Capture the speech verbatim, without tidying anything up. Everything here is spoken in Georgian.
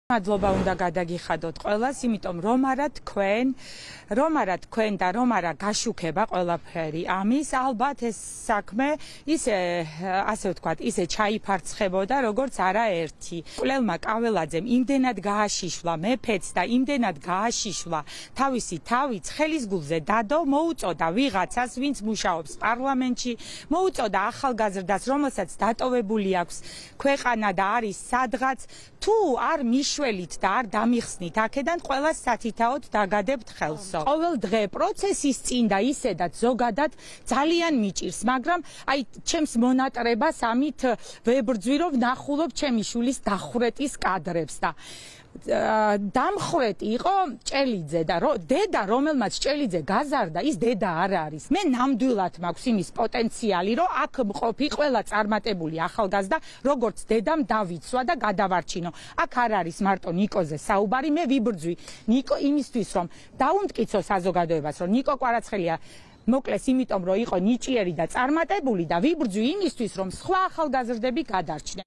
მადლობა უნდა გადაგიხადოთ ყველას, იმიტომ რომ არა თქვენ, რომ არა თქვენ და რომ არა გაშუქება ყველაფერი ამის, ალბათ ეს საქმე ისე, ასე ვთქვათ, ისე ჩაიფარცხებოდა, როგორც არაერთი. კვლელმა კაველაძემ იმდენად გააშიშვლა მეფეც და იმდენად გააშიშვლა თავისი თავი ცხელის გულზე დადო, მოუწოდა ვიღაცას, ვინც მუშაობს პარლამენტში, მოუწოდა ახალგაზრდას, რომელსაც დატოვებული აქვს ქვეყანა და არის სადღაც, თუ არ მიშველით და არ დამიხსნით აქედან ყველას სათითაოდ დაგადებთ ხელსო. ყოველ დღე პროცესის წინ და ისედაც ზოგადად ძალიან მიჭირს, მაგრამ აი ჩემს მონატრებას ამით ვებრძვი, რომ ვნახულობ ჩემი შვილის დახვრეტის კადრებს და დამხრეტი იყო ჭელიძე და დედა, რომელმაც ჭელიძე გაზარდა, ის დედა არ არის. მე ნამდვილად მაქვს იმის პოტენციალი, რომ აქ მყოფი ყველა წარმატებული ახალგაზრდა, როგორც დედამ დავიცვა და გადავარჩინო. აქ არ არის მარტო ნიკოზე საუბარი, მე ვიბრძვი ნიკო იმისთვის, რომ დაუმტკიცო საზოგადოებას, რომ ნიკო კვარაცხელია მოკლეს იმიტომ, რომ იყო ნიჭიერი და წარმატებული და ვიბრძვი იმისთვის, რომ სხვა ახალგაზრდები გადარჩნენ.